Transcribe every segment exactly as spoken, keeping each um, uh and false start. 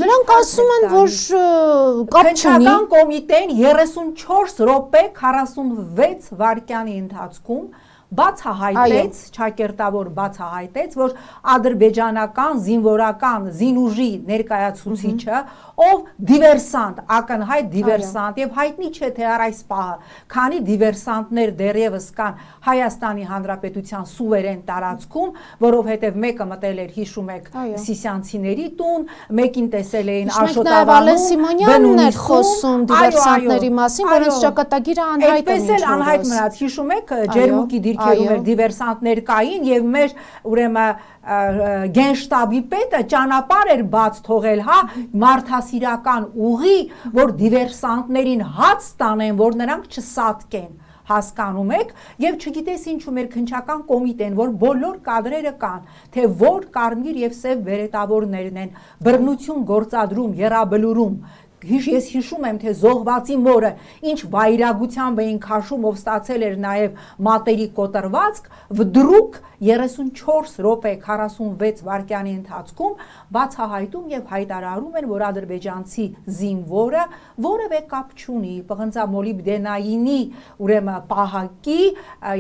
Նրանք ասում են, որ կապ չունի։ Քննչական կոմիտեն երեսունչորս րոպե քառասունվեց վայրկյանի ընթացքում բացահայտեց, ճակերտավոր բացահայտեց, որ ադրբեջանական զինվորական զինուժի ներկայացուցիչը, ով դիվերսանտ, ակնհայտ դիվերսանտ եւ հայտնի չէ թե առայս պահը, քանի դիվերսանտներ դեռևս կան Հայաստանի Հանրապետության սուվերեն տարածքում, որովհետեւ մեկը մտել էր, հիշում եք, Սիսյանցիների տուն, մեկին տեսել էին Աշոտավանում, Սիմոնյանն էր խոսում դիվերսանտների մասին, որոնց ճակատագիրը անհայտ է։ Այդպես էլ անհայտ մնաց, հիշում եք, Ջերմուկի դիրքերում էր դիվերսանտներ կային եւ մեր ուրեմն գենշտաբի պետը ճանապարհ էր բաց թողել, հա, մարդասիրական ուղի, որ դիվերսանտներին հաց տանեն, որ նրանք չսատկեն, հասկանում եք, եւ չգիտես ինչու մեր քննչական կոմիտեն, որ բոլոր կադրերը կան, թե որ կարմիր եւ սև բերետավորներն են, բռնություն գործադրում, եռաբլուրում, Ես հիշում եմ, թե զոհվածի մորը ինչ վայրագությամբ էին քաշում, ով ստացել էր նաև մատերի կոտրվածք, վդրուկ երեսունչորս րոպե քառասունվեց վայրկյանի ընթացքում բացահայտում եւ հայտարարում են, որ ադրբեջանցի զինվորը որևէ կապ չունի պղնձամոլիբդենայինի ուրեմն պահակի,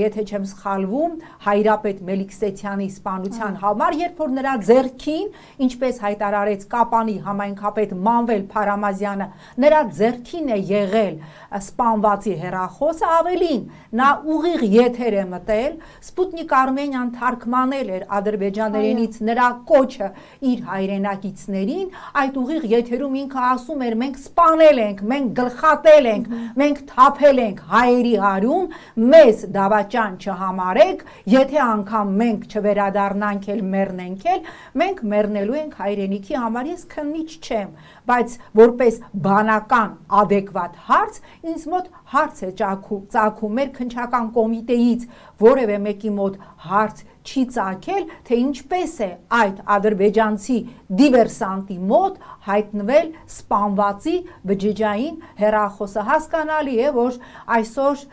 եթե չեմ սխալվում, Հայրապետ Մելիքսեթյանի սպանության համար, երբ որ նրա ձեռքին, ինչպես հայտարարեց Կապանի համայնքապետ Մանվել Փարամազյանը, նրա ձեռքին է եղել սպանվածի հեռախոսը, ավելին, նա ուղիղ եթեր է մտել, Սպուտնիկ Արմենիան թարգմանել էր ադրբեջաներենից նրա կոչը իր հայրենակիցներին, այդ ուղիղ եթերում ինքը ասում էր, մենք սպանել ենք, մենք գլխատել ենք, մենք թափել ենք հայերի հարում, մեզ դավաճան չհամարեք, եթե անգամ մենք չվերադառնանք էլ մեռնենք էլ, մենք մեռնելու ենք հայրենիքի համար, ես քննիչ չեմ, բայց որպես բանական adekvat հարց, ինձ մոտ հարց է ծագում մեր քննչական կոմիտեից, որևէ մեկի մոտ հարց չի ծագել, թե ինչպես է այդ ադրբեջանցի դիվերսանտի մոտ հայտնվել սպանվածի բջջային հեռախոսը։ Հասկանալի է, որ այսօր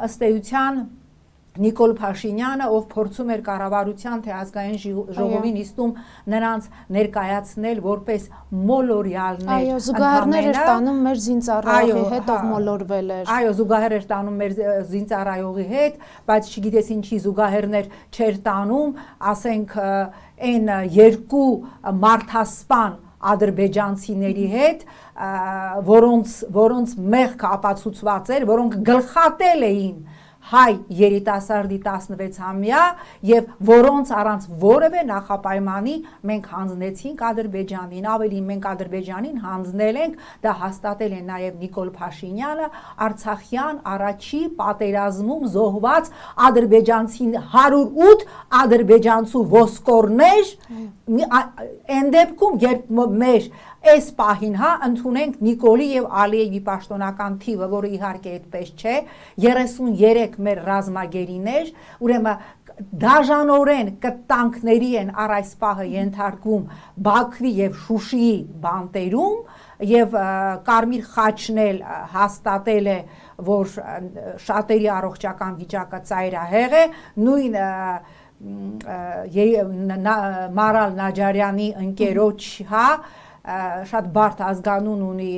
ըստ էության Նիկոլ Փաշինյանը, ով փորձում էր կառավարության թե ազգային ժողովին իստում նրանց ներկայացնել որպես մոլորյալներ։ Այո, զուգահեռներ էր տանում մեր զինծառայողի հետ, ով մոլորվել էր։ Այո, զուգահեռ էր տանում մեր զինծառայողի հետ, բայց չգիտես ինչի զուգահեռներ չէր տանում, ասենք այն երկու մարդասպան ադրբեջանցիների հետ, որոնց որոնց մեղքը ապացուցված էր, որոնք գլխատել էին հայ երիտասարդի տասնվեցամյա եւ որոնց առանց որևէ նախապայմանի մենք հանձնեցինք Ադրբեջանին, ավելի մենք Ադրբեջանին հանձնել ենք, դա հաստատել է նաեւ Նիկոլ Փաշինյանը, Արցախյան առաջի պատերազմում զոհված ադրբեջանցին հարյուր ութ ադրբեջանցու ոսկորներ, այն դեպքում երբ մեր Այս պահին, հա, ընդունենք Նիկոլի եւ Ալիևի պաշտոնական թիվը, որը իհարկե այդպես չէ, երեսուներեք մեր ռազմագերիներ, ուրեմն դաժանորեն կտանքների են առ այս պահը ենթարկվում Բաքվի եւ Շուշիի բանտերում եւ Կարմիր խաչն էլ հաստատել է, որ շատերի առողջական վիճակը ծայրահեղ է, նույն Մարալ Նաջարյանի ընկերոջ, հա, շատ բարդ ազգանուն ունի,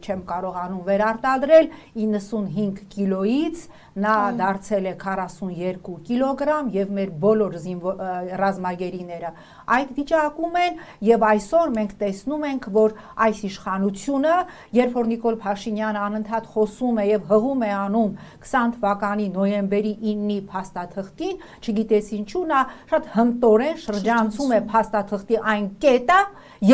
չեմ կարողանում վերարտադրել, իննսունհինգ կիլոից նա դարձել է քառասունյոթ կիլոգրամ եւ մեր բոլոր ռազմագերիները այդ վիճակում են եւ այսօր մենք տեսնում ենք, որ այս իշխանությունը, երբ որ Նիկոլ Փաշինյանը անընդհատ խոսում է եւ հղում է անում քսան թվականի նոյեմբերի իննի փաստաթղթին, չգիտես ինչու նա շատ հմտորեն շրջանցում է փաստաթղթի այն կետը,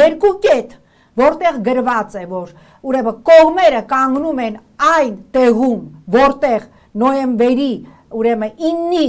երկու կետ, որտեղ գրված է, որ ուրեմն կողմերը կանգնում են այն տեղում, որտեղ նոյեմբերի ուրեմն իննի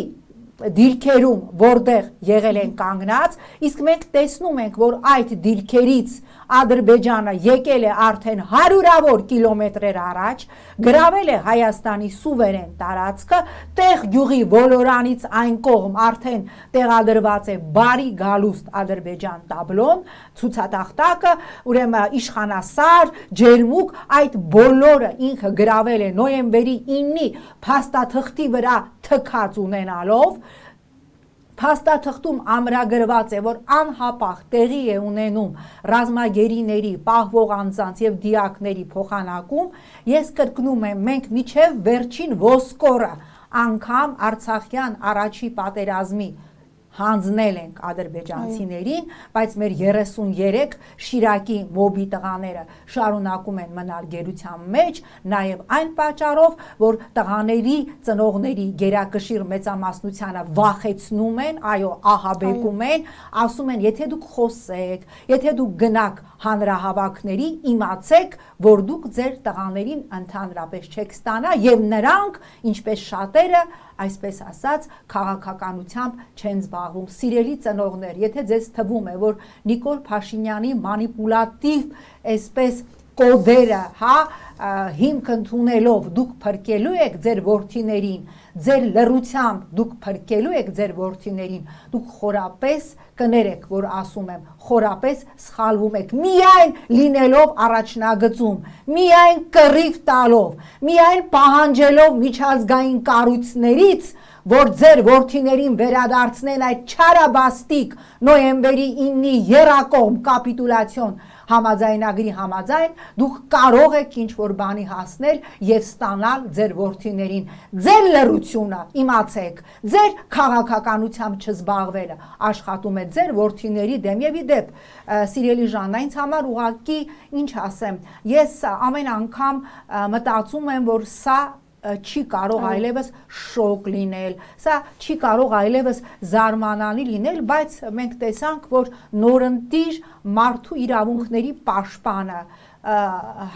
դիրքերում, որտեղ եղել են կանգնած, իսկ մենք տեսնում ենք, որ այդ դիրքերից Ադրբեջանը եկել է արդեն հարյուրավոր կիլոմետրեր առաջ, գրավել է Հայաստանի սուվերեն տարածքը, տեղ գյուղի ոլորանից այն կողմ արդեն տեղադրված է բարի գալուստ Ադրբեջան տաբլոն, ցուցատախտակը, ուրեմն իշխանասար, ջերմուկ, այդ բոլորը ինքը գրավել է նոյեմբերի իննի փաստաթղթի վրա թքած ունենալով, փաստաթղթում ամրագրված է, որ անհապաղ տեղի է ունենում ռազմագերիների, պահվող անձանց եւ դիակների փոխանակում, ես կրկնում եմ, մենք միջև վերջին ոսկորը անգամ Արցախյան առաջի պատերազմի հանձնել ենք ադրբեջանցիներին, բայց մեր երեսուններեք Շիրակի մոբի տղաները շարունակում են մնալ գերության մեջ, նաև այն պատճառով, որ տղաների ծնողների գերակշիռ մեծամասնությանը վախեցնում են, այո, ահաբեկում են, ասում են, եթե դուք խոսեք, եթե դուք գնաք հանրահավաքների, իմացեք, որ դուք ձեր տղաներին ընդհանրապես չեք ստանա եւ նրանք, ինչպես շատերը, այսպես ասած, քաղաքականությամբ չեն զբաղվում։ Սիրելի ծնողներ, եթե ձեզ թվում է, որ Նիկոլ Փաշինյանի մանիպուլատիվ այսպես կոդերը, հա, հիմք ընդունելով դուք փրկելու եք ձեր որդիներին, ձեր լռությամբ դուք փրկելու եք ձեր որդիներին, դուք խորապես կներեք, որ ասում եմ, խորապես սխալվում եք, միայն լինելով առաջնագծում, միայն կռիվ տալով, միայն պահանջելով միջազգային կառույցներից, որ ձեր որդիներին վերադարձնեն այդ չարաբաստիկ նոյեմբերի իննի եռակողմ կապիտուլյացիոն համաձայնագրի համաձայն, դուք կարող եք ինչ-որ բանի հասնել եւ ստանալ ձեր որդիներին։ Ձեր լռությունը, իմացեք, ձեր քաղաքականությամբ չզբաղվելը աշխատում է ձեր որդիների դեմ եւ իդեպ, սիրելի Ժաննա, ինձ համար ուղղակի ինչ ասեմ, ես ամեն անգամ մտածում եմ, որ սա չի կարող այլևս շոկ լինել, սա չի կարող այլևս զարմանալի լինել, բայց մենք տեսանք, որ նորընտիր մարդու իրավունքների պաշտպանը,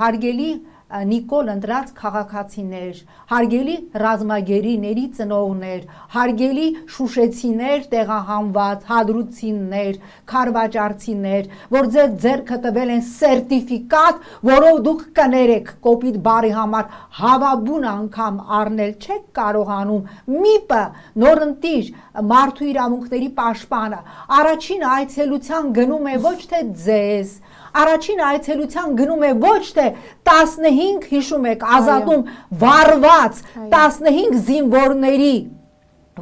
հարգելի Նիկոլ ընտրած քաղաքացիներ, հարգելի ռազմագերիների ծնողներ, հարգելի շուշեցիներ, տեղահանված, հադրուցիներ, քարվաճարցիներ, որ ձեր ձեռքը տվել են սերտիֆիկատ, որով դուք կներեք կոպիտ բարի համար հավաբուն անգամ առնել չեք կարողանում, միպը նորընտիր մարդու իրավունքների պաշտպանը առաջին այցելության գնում է ոչ թե ձեզ, առաջին այցելության գնում է ոչ թե տասնհինգ, հիշում եք, ազատում վարված տասնհինգ զինվորների,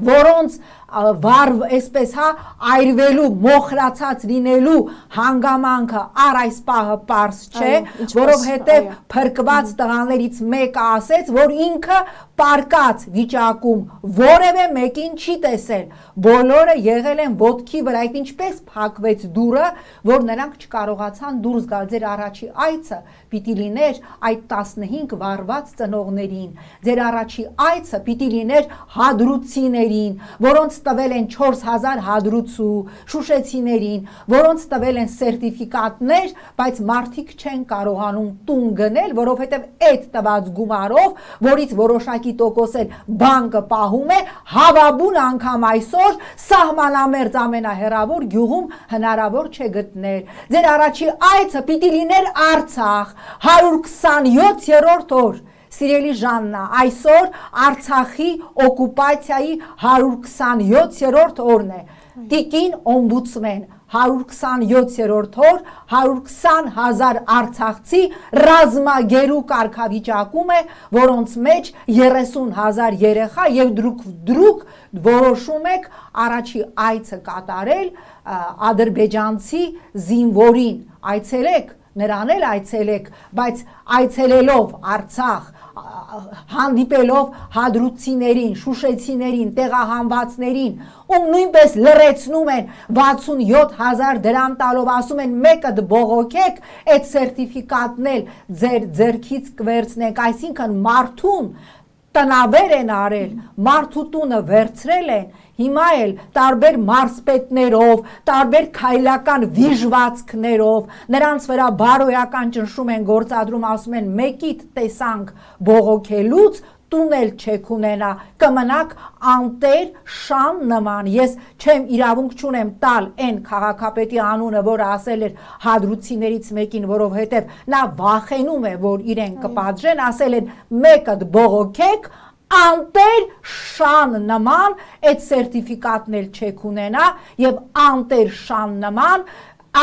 որոնց վարվ այսպես հա այրվելու, մոխրացած լինելու հանգամանքը առ այս պահը պարզ չէ, որովհետև փրկված տղաներից մեկը ասեց, որ ինքը պարկած վիճակում որևէ մեկին չի տեսել, բոլորը եղել են ոտքի վրա, այդ ինչպես փակվեց դուռը, որ նրանք չկարողացան դուրս գալ, ձեր առաջի այցը պիտի լիներ այդ տասնհինգ վարված ծնողներին, ձեր առաջի այցը պիտի լիներ հադրուցիներին, որոնց տվել են չորս հազար հադրուցու, շուշեցիներին, որոնց տվել են սերտիֆիկատներ, բայց մարդիկ չեն կարողանում տուն գնել, որովհետև այդ տված գումարով, որից որոշակի տոկոս էլ բանկը պահում է, հավաբուն անգամ այսօր սահմանամերձ ամենահեռավոր գյուղում հնարավոր չէ գտնել։ Ձեր առաջի այցը պիտի լիներ Արցախ, հարյուր քսանյոթերորդ օր։ Սիրելի Ժաննա, այսօր Արցախի օկուպացիայի հարյուր քսանյոթերորդ օրն է, տիկին օմբուդսմեն, հարյուր քսանյոթերորդ օր, հարյուր քսան հազար արցախցի ռազմագերու կարգավիճակում է, որոնց մեջ երեսուն հազար երեխա եւ դրուկ դրուկ որոշում եք առաջի այցը կատարել ադրբեջանցի զինվորին, այցելեք, նրան էլ այցելեք, բայց այցելելով Արցախ, հանդիպելով հադրուցիներին, շուշեցիներին, տեղահանվածներին, ում նույնպես լռեցնում են վաթսունյոթ հազար դրամ տալով, ասում են մեկը բողոքեք, այդ սերտիֆիկատն էլ ձեր ձեռքից կվերցնենք, այսինքն մարդուն տնավեր են արել, մարդու տունը վերցրել են, հիմա էլ տարբեր մարզպետներով, տարբեր քայլական վիժվածքներով, նրանց վրա բարոյական ճնշում են գործադրում, ասում են մեկիդ տեսանք բողոքելուց, տուն էլ չեք ունենա, կմնաք անտեր շան նման, ես չեմ իրավունք չունեմ տալ այն քաղաքապետի անունը, որը ասել էր հադրուցիներից մեկին, որովհետև նա վախենում է, որ իրեն կպատժեն, ասել են մեկը բողոքեք, անտեր շան նման այդ սերտիֆիկատն էլ չեք ունենա եւ անտեր շան նման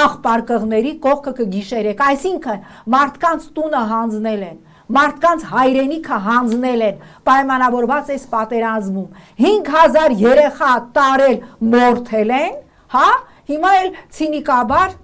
աղբարկղների կողքը կգիշերեք, այսինքն մարդկանց տունը հանձնել են, մարդկանց հայրենիքը հանձնել են, պայմանավորված այս պատերազմում, հինգ հազար երեխա տարել մորթել են, հա, հիմա էլ ցինիկաբար